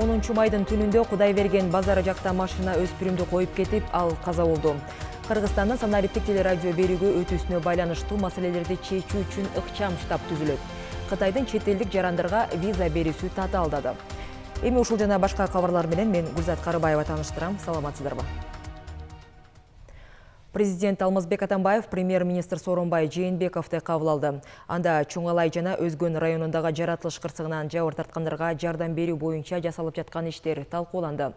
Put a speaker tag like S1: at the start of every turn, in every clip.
S1: 10 майдын түнүндө Кудайберген базары жакта машина өспүрүмдү коюп кетип, ал каза болду. Кыргызстандын Санариптик телерадио берүүгү өтүүсүнө байланыштуу маселелерди чечүү үчүн ыкчам штаб түзүлөт. Кытайдын чет элдик жарандарга виза берүүсү татаалдады. Эми ушул жана башка кабарлар менен мен Гүлзат Карыбаева тааныштырам. Саламатсыздарбы? Президент Алмазбек Атамбаев премьер-министр Сооронбай Жээнбековду кабыл алды. Анда Чоңалай жана Өзгөн районундагы жаратылыш кырсыгынан жабыр тарткандарга жардам берүү боюнча жасалып жаткан иштер талкууланды.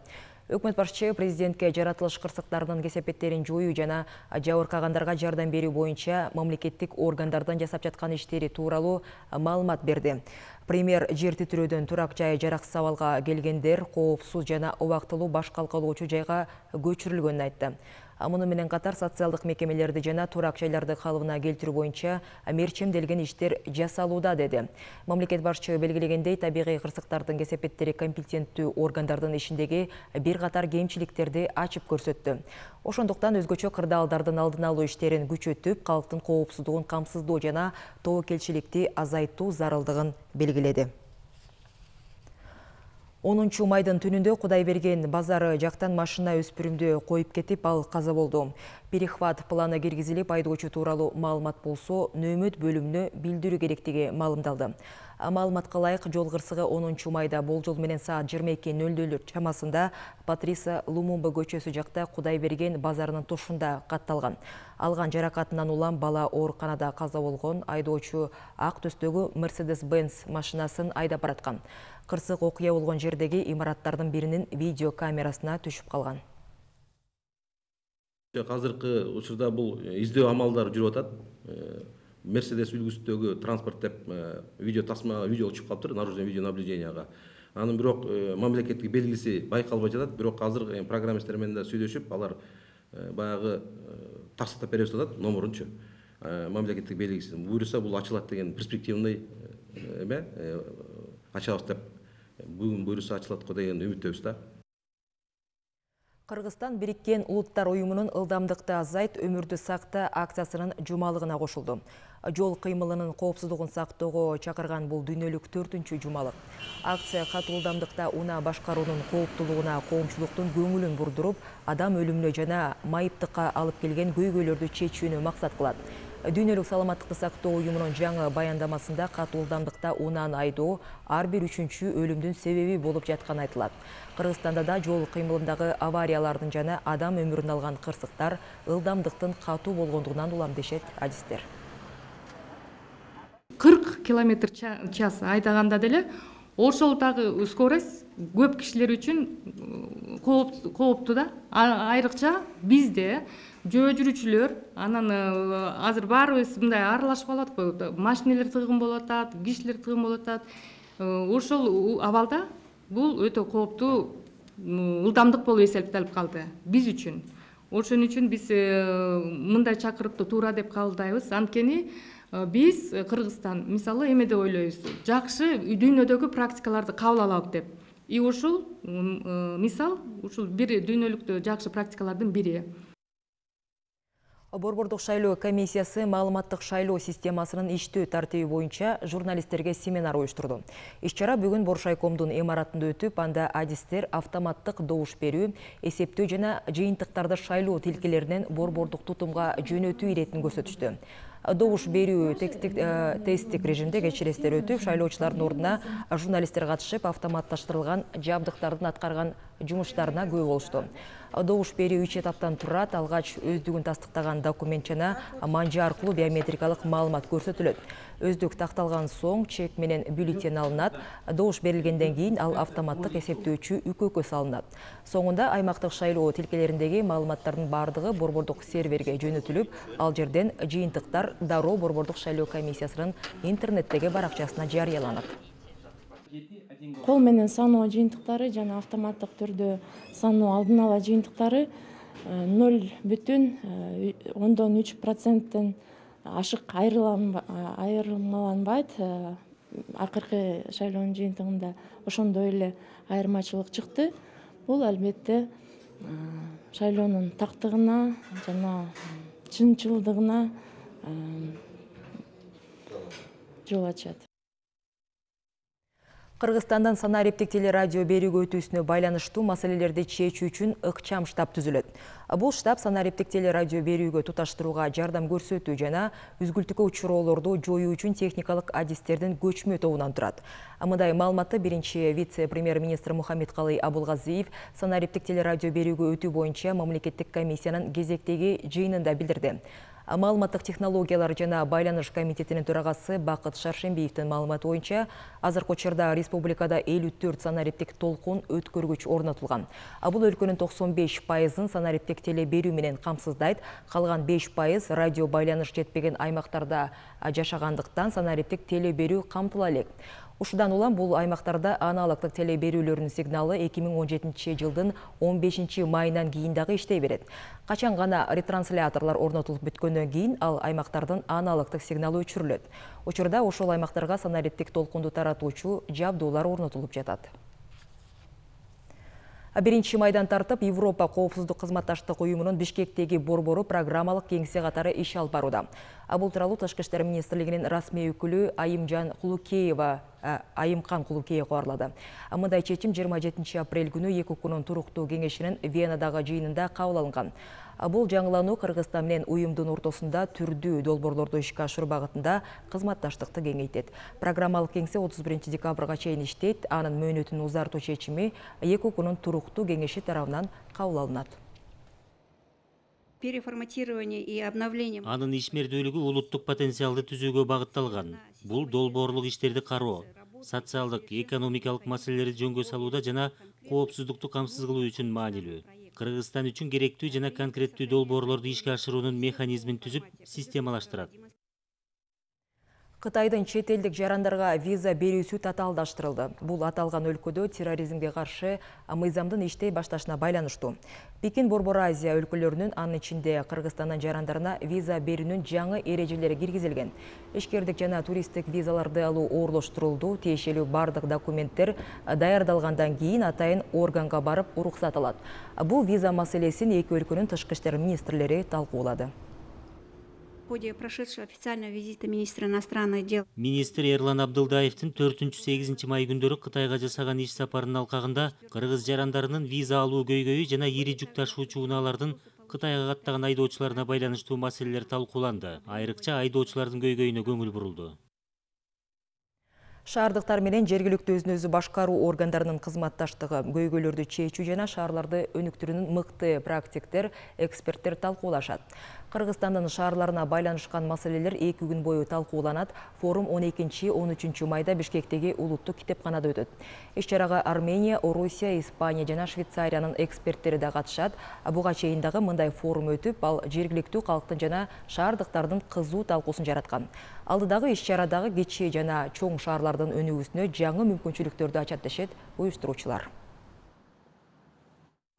S1: Өкмөт башчысы президентке жаратылыш кырсыктарынын кесепеттерин жоюу жана жабыркагандарга жардам берүү боюнча мамлекеттик органдардын жасап жаткан иштери тууралуу маалымат берди. Премьер жер титирөөдөн турак жайы жараксыз абалга келгендер коопсуз жана убактылуу баш калкалоочу жайга көчүрүлгөнүн айтты. Муну менен катар социалдык мекемелерди жана турак жайларды калыбына келтирүү боюнча мерчемделген иштер жасалууда деди. Мамлекет башчысы белгилегендей, табигый кырсыктардын кесепеттери компетенттүү органдардын ишиндеги бир катар кемчиликтерди ачып көрсөттү. Ошондуктан өзгөчө кырдаалдардын алдын алуу иштерин күчөтүп, калктын коопсуздугун камсыздоо жана тобокелчиликти азайтуу зарылдыгын белгиледи. 10 майдын түнүндө Кудайберген базары жактан машина өспүрүмдү коюп кетип, ал каза болду. Перехват планы киргизилип, айдоочу тууралуу маалымат болсо, нөөмөт бөлүмүнө билдирүү керектиги маалымдалды. Маалыматка ылайык, жол кырсыгы 10 майда болжол менен саат 22:00 чамасында Патриса Лумумба көчөсү жакта Кудайберген базарынын тушунда катталган. Алган жаракатынан улам бала ооруканада каза болгон. Айдоочу ак төстөгү Mercedes-Benz машинасын айдап бараткан. Кырсык окуя болгон жердеги имараттардын биринин видео камерасына түшүп калган.
S2: Азыркы учурда бул издөө амалдары жүрүп атат. Мерседес үлгүсүндөгү транспорт деп видео чыгып калыптыр, наружное видео наблюденияга. Анын бирок мамлекеттик белгиси байкалбай жатат. Бирок азыр программисттер менен да сүйлөшүп, алар баягы таксаттап беребиз деп атат, номурунчу. Мамлекеттик белгиси буюрса бул ачылат деген перспективный ачабыз деп бүгүн буюрса ачылат го деген үмүттөбүз да.
S1: Кыргызстан Бириккен Улуттар уюмунун ылдамдыкты азайт, өмүрдү сакта акциясынын жумалыгына кошулду. Жол кыймылынын коопсуздугун сактоого чакырган бул дүйнөлүк 4-чү жумалык. Акция катуу ылдамдыкта унаа башкаруунун кооптуулугуна коомчулуктун көңүлүн бурдуруп, адам өлүмүнө жана майыптыкка алып келген көйгөйлөрдү чечүүнү максат кылат. Дүйнөлүк саламаттыкты сактоо уюмунун жаңы баяндамасында катуу ылдамдыкта унааны айдоо ар бир 3-чү өлүмдүн себеби болуп жатканы айтылат. Кыргызстанда да жол кыймылындагы авариялардын жана адам өмүрүн алган кырсыктар ылдамдыктын катуу болгондугунан улам дешет адистер.
S3: 40 км/ч айдаганда деле ошол дагы скорость көп кишилер үчүн кооптуу да. Айрыкча бизде жөө жүрүүчүлөр, анан азыр баарыбыз мындай аралашып калат го, машинелер тыгын болуп атат, кишилер тыгын болуп атат. Ошол абалда бул өтө кооптуу ылдамдык болуп эсептелип калды биз үчүн. Ошон үчүн биз мындай чакырыкты туура деп кабылдайбыз. Анткени биз Кыргызстан мисалы эме деп ойлойбуз, жакшы дүйнөдөгү практикаларды кабыл алалы деп. Ушул мисал, ушул бир дүйнөлүктө жакшы практикалардын бири.
S1: Борбордук шайлоо комиссиясы маалыматтык шайлоо системасынын иштөө тартиби боюнча журналисттерге семинар уюштурду. Иш-чара бүгүн Боршайкомдун имаратында өтүп, анда адистер автоматтык добуш берүү, эсептөө жана жыйынтыктарды шайлоо тилкелеринен борбордук тутумга жөнөтүү иретин көрсөтүштү. Добуш берүү тесттик режимде кечирестер өтүп, шайлоочулардын ордуна журналисттер катышып, автоматташтырылган жабдыктардын аткарган жумуштарына күбө болушту. Добуш берүү 3 этаптан турат. Алгач өздүгүн тастыктаган документ жана манжа аркылуу биометрикалык маалымат көрсөтүлөт. Өздүк такталган соң чек менен бюллетень алынат. Добуш берилгенден кийин ал автоматтык эсептөөчү үкөккө салынат. Соңунда аймактык шайлоо тилкелериндеги маалыматтардын бардыгы борбордук серверге жөнөтүлүп, ал жерден жыйынтыктар дароо борбордук шайлоо комиссиясынын интернеттеги баракчасына жарыяланат.
S4: Кол менен саноо жыйынтыктары жана автоматтык түрдө саноо алдын ала жыйынтыктары 0,3%-тен ашык айырмаланбайт. Акыркы шайлоонун жыйынтыгында ошондой эле айырмачылык чыкты. Бул албетте шайлоонун тактыгына жана чынчылдыгына жол ачат.
S1: Кыргызстандан санариптик телерадио берүүгө өтүүсүнө байланыштуу маселелерди чечүү үчүн ыкчам штаб түзүлөт. Бул штаб санариптик телерадио берүүгө туташтырууга жардам көрсөтүү жана үзгүлтүккө учуроолорду жоюу үчүн техникалык адистердин көчмө тобунан турат. Мындай маалыматты биринчи вице-премьер-министр Мухаммедкалый Абулгазиев санариптик телерадио берүүгө өтүү боюнча мамлекеттик комиссиянын кезектеги жыйынында билдирди. Маалыматтык технологиялар жана байланыш комитетинин төрагасы Бакыт Шаршембиевдин маалыматы боюнча азыркы учурда республикада 54 санариптик толкун өткөргүч орнотулган. Бул өлкөнүн 95%-ын санариптик теле берүү менен камсыздайт, калган 5% радио байланыш жетпеген аймактарда жашагандыктан санариптик теле берүү камтыла элек. Ушудан улам бул аймактарда аналогдук теле берүүлөрдүн сигналы 2017 жылдын 15 майынан кийин дагы иштей берет. Качан гана ретрансляторлор орнотулуп бүткөндөн кийин ал аймактардын аналогдук сигналы өчүрүлөт. Учурда ошол аймактарга санариптик толкунду таратуучу жабдуулар орнотулуп жатат. 1 майдан тартып Европа коопсуздук кызматташтык уюмунун Бишкектеги борбору программалык кеңсе катары иш алып барууда. Бул тууралуу Тышкы иштер министрлигинин расмий өкүлү Айымкан Кулукеева кабарлады. Мындай чечим 27 апрель күнү ЕКУКунун туруктуу кеңешинин Венадагы жыйынында кабыл алынган. Бул жаңылануу Кыргызстан менен уюмдун ортосунда түрдүү долбоорлорду ишке ашыруу багытында кызматташтыкты кеңейтет. Программалык кеңсе 31 декабрга чейин иштейт. Анын мөөнөтүн узартуу чечими ЕКУКунун туруктуу кеңеши тарабынан кабыл алынат.
S5: Переформатирование и обновление.
S6: Анын ишмердүүлүгү улуттук потенциалды түзүүгө багытталган. Бул долбоорлук иштерди кароо, социалдык, экономикалык маселелерди жөнгө салууда жана коопсуздукту камсыз кылуу үчүн маанилүү. Кыргызстан үчүн керектүү жана конкреттүү долбоорлорду ишке ашыруунун механизмин түзүп, системалаштырат.
S1: Кытайдын чет элдик жарандарга виза берүүсү татаалдаштырылды. Бул аталган өлкөдө терроризмге каршы мыйзамдын иштей башташына байланыштуу. Пекин Борбор Азия өлкөлөрүнүн, анын ичинде Кыргызстандын жарандарына виза берүүнүн жаңы эрежелери киргизилген. Ишкердик жана туристтик визаларды алуу оорлоштурулду. Тиешелүү бардык документтер даярдалгандан кийин атайын органга барып уруксат алат. Бул виза маселесин эки өлкөнүн тышкы иштер министрлери талкуулады.
S5: В ходе прошедшего официального визита министра иностранных дел
S6: Министр Эрлан Абдылдаевдин 4-8 май күндөрү Кытайга жасаган иш сапарынын алкагында кыргыз жарандарынын виза алуу көйгөйү жана ири жүк ташуучу унаалардын Кытайга каттаган айдоочуларына байланыштуу маселелер талкууланды. Айрыкча айдоочулардын көйгөйүнө көңүл бурулду.
S1: Шаардыктар менен жергиликтүү өзүн-өзү башкаруу органдарынын кызматташтыгы, көйгөйлөрдү чечүү жана шаарларды өнүктүрүүнүн мыкты практиктер, эксперттер талкуулашат. Кыргызстандын шаарларына байланышкан маселелер 2 күн бою талкууланат. Форум 12-13 майда Бишкектеги улуттук китепканада өтөт. Иш-чарага Армения, Орусия, Испания жана Швейцариянын эксперттери да катышат. Буга чейин дагы мындай форум өтүп, ал жергиликтүү калктын жана шаардыктардын кызуу талкуусун жараткан. Алдыдагы иш-чарадагы кичи жана чоң шаарлардын өнүгүүсүнө жаңы мүмкүнчүлүктөрдү ачат дешет уюштуруучулар.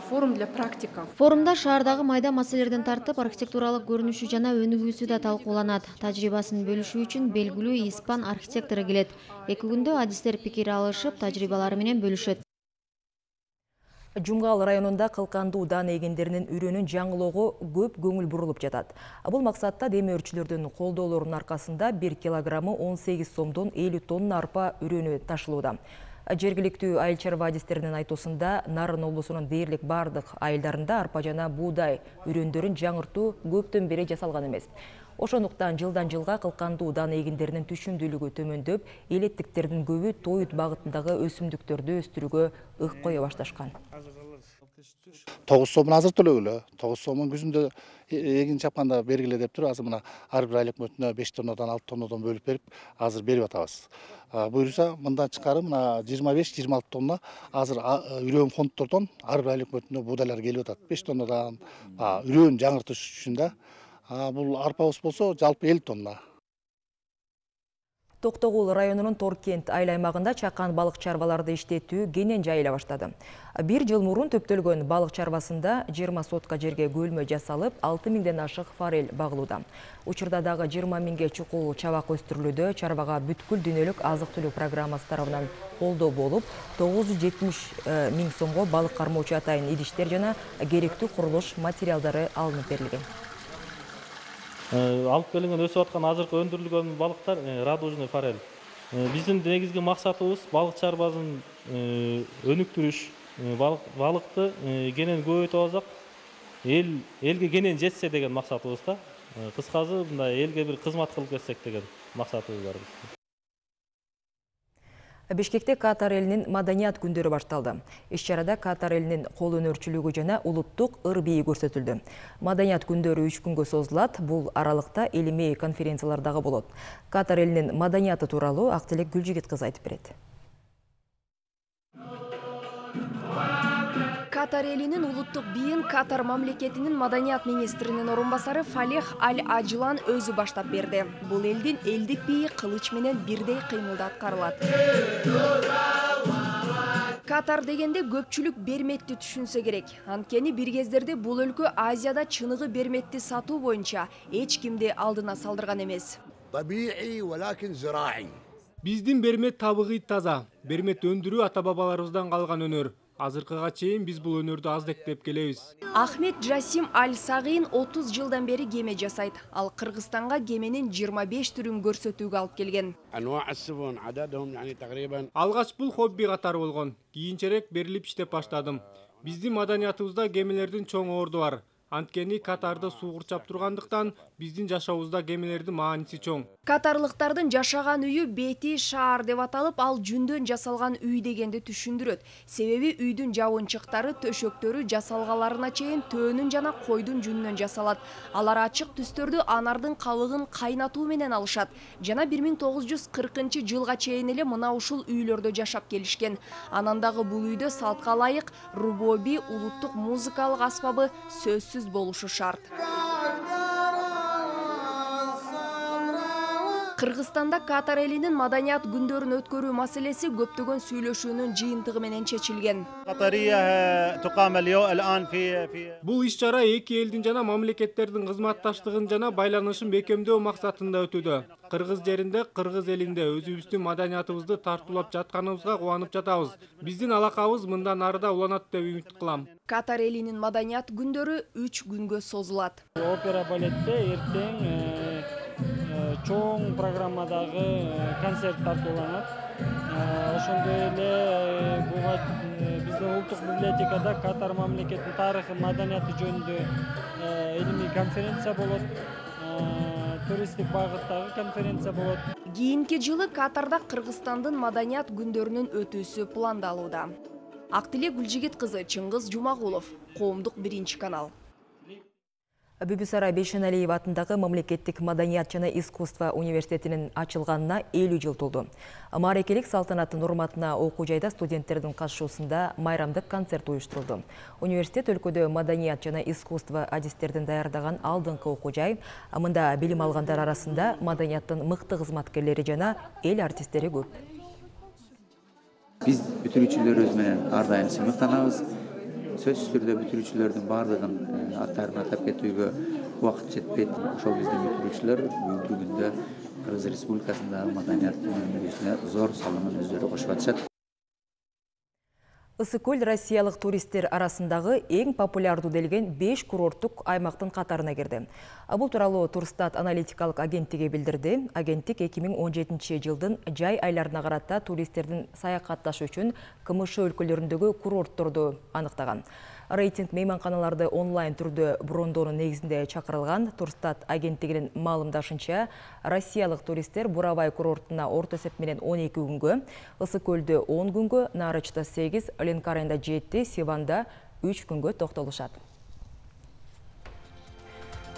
S7: Форум для практиков.
S8: Форумда шаардагы майда маселелерден тартып архитектуралык көрүнүшү жана өнүгүүсү да талкууланат. Тажрыйбасын бөлүшүү үчүн белгилүү испан архитектору келет. 2 күндө адистер пикир алышып, тажрыйбалары менен бөлүшөт.
S1: Жумгал районунда кылкандуу дан эгендеринин үрөнүн жаңылоого көп көңүл бурулуп жатат. Бул максатта демөөрчүлөрдүн колдоолорунун аркасында 1 килограммы 18 сомдон 50 тонна арпа үрөнү ташылууда. Жергиликтүү айыл чарба адистеринин айтуусунда Нарын облусунун дээрлик бардык айылдарында арпа жана буудай үрөндөрүн жаңыртуу көптөн бери жасалган эмес. Ошондуктан жылдан жылга кылкандуу дан эгендеринин түшүмдүүлүгү төмөндөп, элеттиктердин көбү тоют багытындагы өсүмдүктөрдү өстүрүүгө ык кое башташкан.
S9: 9 сомун азыр төлөгүлө. 9 сомун күзүндө эгин чапканда бергиле деп туруп, азыр мына ар бир айлык мөтүнө 5 тоннадан 6 тоннадан бөлүп берип, азыр берип атабыз. Буюрса мындан чыкары мына 25-26 тонна азыр үрөн фонддордон ар бир айлык мөтүнө буудайлар келип атат. 5 тоннадан үрөн жаңыртыш үчүн да. Бул арпабыз болсо жалпы 50 тонна.
S1: Токтогул районунун Торкент айыл аймагында чакан балык чарбаларды иштетүү кенен жайыла баштады. 1 жыл мурун төптөлгөн балык чарбасында 20 сотка жерге көлмө жасалып, 6 миңден ашык форель багылууда. Учурда дагы 20 миңге чукул чабак өстүрүлүүдө. Чарбага бүткүл дүйнөлүк азык-түлүк программасы тарабынан колдоо болуп, 970 миң сомго балык кармоочу атайын идиштер жана керектүү курулуш материалдары алынып берилген.
S10: Алып келинген өсүп аткан азыркы өндүрүлгөн балыктар радужный форель.
S7: Биздин негизги максатыбыз балык чарбасын өнүктүрүш, балыкты кенен көбөйтүп алсак, элге кенен жетсе деген максатыбыз да. Кыскасы мындай элге бир кызмат кылып кетсек деген максатыбыз бар.
S1: Бишкекте Катар элинин маданият күндөрү башталды. Иш-чарада Катар элинин кол өнөрчүлүгү жана улуттук ыр бийи көрсөтүлдү. Маданият күндөрү 3 күнгө созулат. Бул аралыкта илимий конференциялар дагы болот. Катар элинин маданияты тууралуу Актилек Гүлжигит кыз айтып берет.
S10: Катар элинин улуттук бийин Катар мамлекетинин маданият министринин орун басары Фалех Аль-Аджлан өзү баштап берди. Бул элдин элдик бийи кылыч менен бирдей кыймылда аткарылат. Катар дегенде көпчүлүк берметти түшүнсө керек. Анткени бир кездерде бул өлкө Азияда чыныгы берметти сатуу боюнча эч кимди алдына салдырган эмес.
S11: Биздин бермет табигый таза. Бермет өндүрүү ата-бабаларыбыздан калган өнөр. Азыркыга чейин биз бул өнөрдү аздектеп келебиз.
S10: Ахмед Джасим Аль-Сагин 30 жылдан бери кеме жасайт. Ал Кыргызстанга кеменин 25 түрүн көрсөтүүгө алып келген.
S11: Алгач бул хобби катары болгон. Кийинчерээк берилип иштеп баштадым. Биздин маданиятыбызда кемелердин чоң орду бар. Анткени Катарда суу курчап тургандыктан биздин жашообузда кемелердин мааниси чоң.
S10: Катарлыктардын жашаган үйү бети шаар деп аталып, ал жүндөн жасалган үй дегенди түшүндүрөт. Себеби үйдүн жабынчыктары, төшөктөрү жасалгаларына чейин төөнүн жана койдун жүнүнөн жасалат. Алар ачык түстөрдү анардын кабыгын кайнатуу менен алышат. Жана 1940-жылга чейин эле мына ушул үйлөрдө жашап келишкен. Анан дагы бул үйдө салтка ылайык рубоби улуттук музыкалык аспабы сөзсүз болушу шарт. Кыргызстанда Катар элинин маданият күндөрүн өткөрүү маселеси көптөгөн сүйлөшүүнүн жыйынтыгы менен чечилген.
S11: Бул иш-чара эки элдин жана мамлекеттердин кызматташтыгын жана байланышын бекемдөө максатында өтүүдө. Кыргыз жеринде, Кыргыз элинде өзүбүздүн маданиятыбызды тартуулап жатканыбызга кубанып жатабыз. Биздин алакабыз мындан арыда уланат деп үмүт кылам.
S10: Катар элинин маданият күндөрү 3 күнгө созулат.
S12: Опера балетте эртең чоң программадагы концерт тартууланат. Ошондой эле буга биздин улуттук библиотекада Катар мамлекетинин тарыхы, маданияты жөнүндө илимий конференция болот. Туристтик багыттагы конференция болот.
S10: Кийинки жылы Катарда Кыргызстандын маданият күндөрүнүн өтүүсү пландалууда. Актилек Гүлжигит кызы, Чыңгыз Жумагулов, Коомдук 1-канал.
S1: Бүбүсара Бейшеналиев атындагы мамлекеттик маданият жана искусство университетинин ачылганына 50 жыл толду. Маарекелик салтанаттын урматына окуу жайда студенттердин катышуусунда майрамдык концерт уюштурулду. Университет өлкөдө маданият жана искусство адистердин даярдаган алдыңкы окуу жай. Мында билим алгандар арасында маданияттын мыкты кызматкерлери жана эл артисттери көп.
S13: Биз бүтүрүүчүлөрүбүз менен ар дайым сыймыктанабыз. Сөзсүз түрдө бүтүрүүчүлөрдүн баардыгын аттарын атап кетүүгө убакыт жетпейт. Ошол биздин бүтүрүүчүлөр бүгүнкү күндө Кыргыз Республикасындагы маданияттын өнүгүүсүнө зор салымын өздөрү кошуп атышат.
S1: Ысык-көл россиялык туристтер арасындагы эң популярдуу делген 5 курорттук аймактын катарына кирди. Бул тууралуу Турстат аналитикалык агенттиги билдирди. Агенттик 2017 жылдын жай айларына карата туристтердин саякатташы үчүн КМШ өлкөлөрүндөгү курортторду аныктаган. Рейтинг мейманканаларды онлайн түрдө брондоонун негизинде чакырылган. Турстат агенттигинин маалымдашынча, россиялык туристтер Бурабай курортуна орто эсеп менен 12 күнгө, Ысык-көлдө 10 күнгө, Нарычта 8, Ленкарайында 7, Сиванда 3 күнгө токтолушат.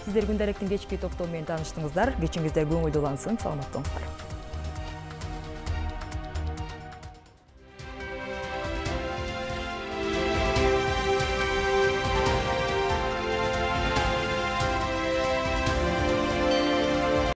S1: Сиздер күндөрүктүн кечки топтому менен тааныштыңыздар. Кечиңиздер көңүлдүү улансын. Саламат болуңуздар.